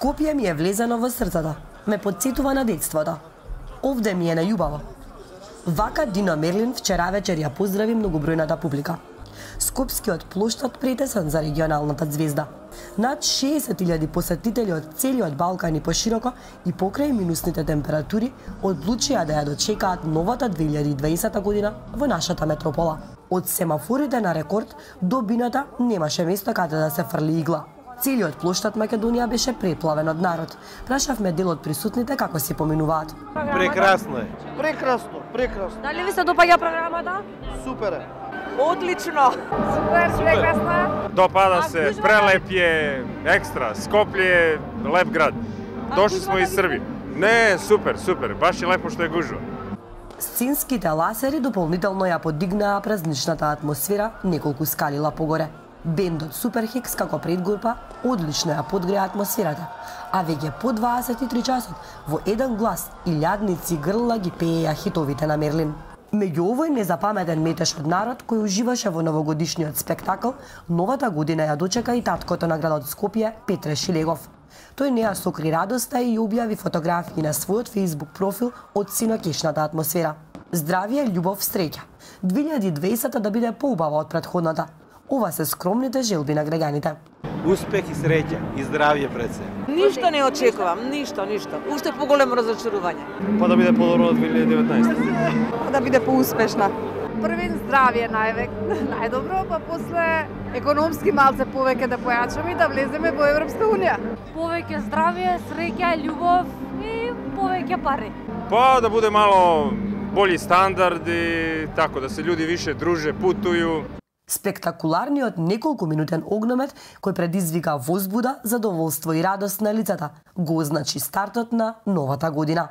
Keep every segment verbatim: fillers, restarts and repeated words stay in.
Скопје ми е влезено во срцето. Ме потсетува на детството. Овде ми е најубаво. Вака Дино Мерлин вчера вечер ја поздрави многобројната публика. Скопскиот плоштад претесен за регионалната звезда. Над шеесет илјади посетители од целиот Балкан и пошироко и покрај минусните температури одлучија да ја дочекаат новата две илјади и дваесета година во нашата метропола. Од семафорите на рекорд до бината немаше место каде да се фрли игла. Целиот плоштад Македонија беше преплавен од народ. Прашавме дел од присутните како си поминуваат. Прекрасно е. Прекрасно, прекрасно. Дали ви се допаѓа програмата? Супер е. Одлично. Супер, прекрасно. Допада се, прелеп е, екстра. Скопје е леп град. Дошли смо из Србија. Не, супер, супер, баш е лепо што е гужва. Сценските ласери дополнително ја подигнаа празничната атмосфера неколку скалила погоре. Бендот Суперхикс како предгрупа одлично ја подгреа атмосферата, а веќе по дваесет и три часот во еден глас и лјадници грла ги пееја хитовите на Мерлин. Меѓу овој незапаметен метеж од народ кој уживаше во новогодишниот спектакл, новата година ја дочека и таткото на градот Скопје, Петре Шилегов. Тој не ја сокри радоста и објави фотографии на својот Facebook профил од синокешната атмосфера. Здравје, љубов, среќа. две илјади и дваесета да биде поубава од претходната. Ова се скромните желби на граѓаните. Успех и среќа и здравје пред се. Ништо не очекувам, ништо, ништо. Уште поголемо разочарување. Па да биде подобро од две илјади и деветнаесета. Па да биде поуспешна. Првен здравје највек, најдобро, па после економски малце повеќе да појачаме и да влеземе во Европска унија. Повеќе здравје, среќа, љубов и повеќе пари. Па да буде мало бољи стандарди, тако да се луѓе више друже, путују. Спектакуларниот неколку минутен огномет кој предизвика возбуда, задоволство и радост на лицата го означи стартот на новата година.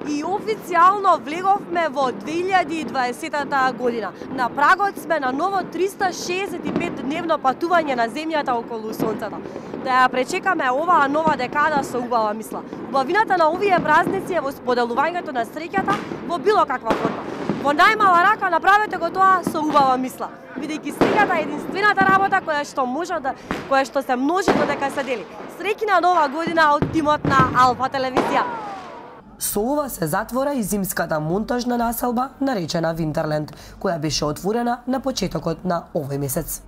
И официјално влеговме во две илјади и дваесета година. На прагот сме на ново триста шеесет и пет дневно патување на земјата околу сонцето. Да ја пречекаме оваа нова декада со убава мисла. Убавината на овие празници е во споделувањето на среќата во било каква форма. Во најмала рака направете го тоа со убава мисла, бидејќи среќата е единствената работа која што може да која што се множи додека се дели. Среќна нова година од тимот на Алфа телевизија. Со ова се затвора и зимската монтажна населба наречена Винтерленд, која беше отворена на почетокот на овој месец.